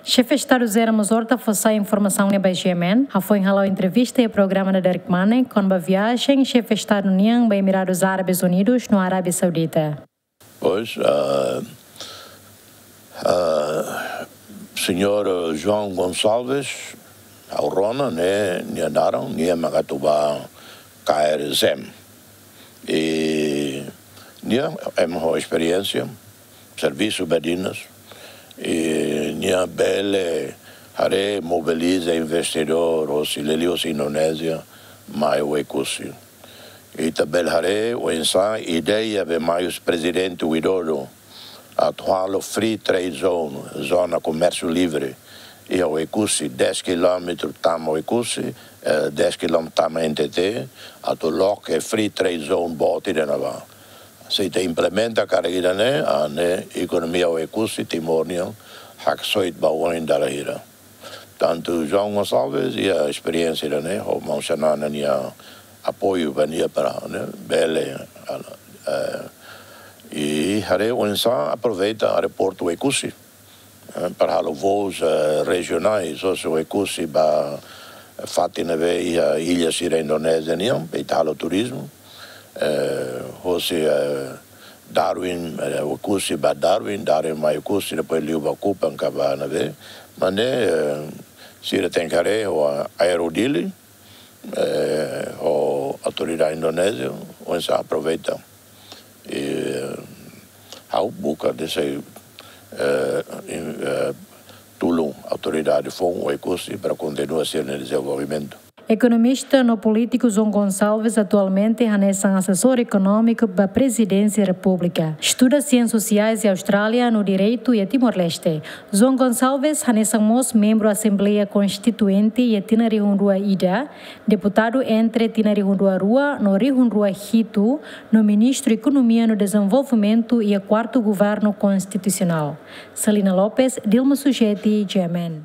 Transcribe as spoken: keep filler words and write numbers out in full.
Xefe Estadu José Ramos Horta fó sai informasaun ne'e ba G M N, hafoin hala'o entrevista iha programa Dadeer Kmanek, kona-ba viajen xefe Estadu nian ba Emiradus Árabes Unidus no Arábia Saudita. Pois, ah, ah, señór João Gonçalves, ha'u rona ne'e, nia naran, nia mak atu ba kaer zem. I nia ema ho esperiénsia, servisu badinas, i nia bele haree mobiliza investidór hosi, liuliu hosi Indonézia, mai Oekusi. Ita bele haree oinsá ideia be mai husi prezidente Widodo atu halo free trade zone, zona komérsiu livre, iha Oekusi, dez kilómetru tama Oekusi, eh, dez kilómetru tama N T T, atu loke free trade zone boot ida ne'ebá. Se ita implementa karik ida-ne'e, ah, ne'e ekonomia Oekusi, Timor nian, haksoit ba oin dala hira. Tantu João Gonçalves iha esperiénsia ida-ne'e, ho maun Xanana nia apoiu ba nia para, ne'e, bele, ah, eh, i haree oinsá aproveita aeroportu Oekusi, eh, para halo voos, eh, rejionais, hosi Oekusi ba fatin ne'ebé iha illa sira Indonézia nian, ita halo turizmu, eh, hosi, eh, Darwin, eh, Oekusi ba Darwin, Darwin mai Oekusi, depois liu ba Kupang ka ba ne'ebé. Maibé, eh, sira tenke haree ho Aero Dili, eh, ho autoridade Indonézia, oinsá aproveita. I, eh, ha'u buka de'it, eh, in-, eh, tulun autoridade foun Oekusi para kontinua sira-nia dezenvolvimentu. Ekonomista no polítiku João Gonçalves atualmente hanesan asesór ekonómiku ba Prezidénsia Repúblika. Estuda Siénsias Sosiais iha Austrália no Direitu iha Timor-Leste. João Gonçalves hanesan mós membru Asembleia Konstituinte iha tinan rihun rua ida, deputadu entre tinan rihun rua rua no rihun rua hitu, no Ministru Ekonomia no Dezenvolvimentu iha kuartu Governu Konstitusionál. Celina Lopes, Dilma Sujeti, G M N.